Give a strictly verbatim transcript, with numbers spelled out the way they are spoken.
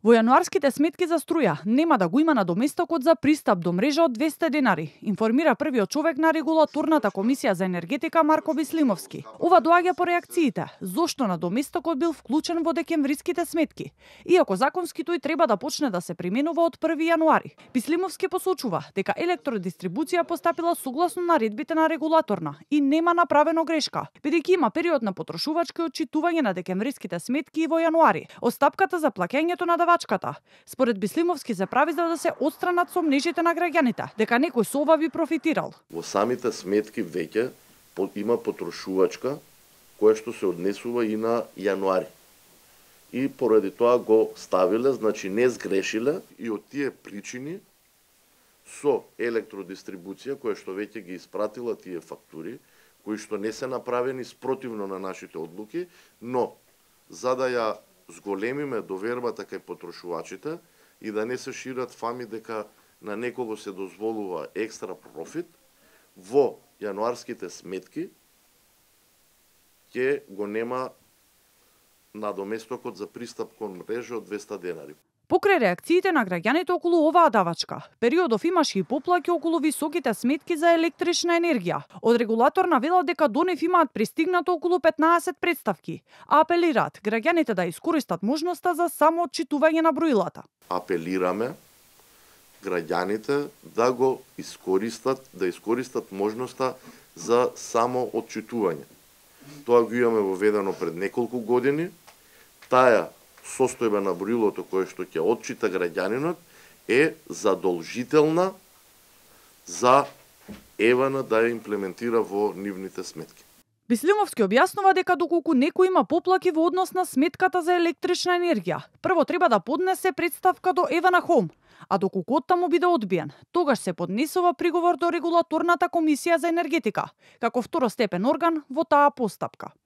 Во јануарските сметки за струја нема да го има надоместокот за пристап до мрежа од двесте денари, информира првиот човек на регулаторната комисија за енергетика Марко Бислимовски. Ова доаѓа по реакциите зошто надоместокот бил вклучен во декемвриските сметки, иако законски тој треба да почне да се применува од први јануари. Бислимовски посочува дека електродистрибуција постапила согласно наредбите на регулаторна и нема направено грешка, бидејќи има период на потрошувачко отчитување на декемвриските сметки и во јануари. Остапката за плаќањето на давачката, според Бислимовски, се прави за да се отстранат сомнежите на граѓаните дека некој со ова би профитирал. Во самите сметки веќе има потрошувачка која што се однесува и на јануари. И поради тоа го ставиле, значи не сгрешиле, и од тие причини со електродистрибуција која што веќе ги испратила тие фактури, кои што не се направени спротивно на нашите одлуки, но за да ја зголемиме довербата кај потрошувачите и да не се шират фами дека на некого се дозволува екстра профит, во јануарските сметки ќе го нема надоместокот за пристап кон мрежа од двесте денари. Покрај реакциите на граѓаните околу оваа давачка, периодов имаше и поплаки околу високите сметки за електрична енергија. Од регулаторна велат дека до нив имаат пристигнато околу петнаесет представки, а апелираат граѓаните да искористат можноста за самоотчитување на броилата. Апелираме граѓаните да го искористат, да искористат можноста за самоотчитување. Тоа го имаме воведено пред неколку години. Таа состојба на броилото кое што ќе отчита граѓанинот е задолжителна за ЕВН да ја имплементира во нивните сметки. Бислимовски објаснува дека доколку некој има поплаки во однос на сметката за електрична енергија, прво треба да поднесе представка до ЕВН Home, а доколку оттаму биде одбиен, тогаш се поднесува приговор до регулаторната комисија за енергетика, како второстепен орган во таа постапка.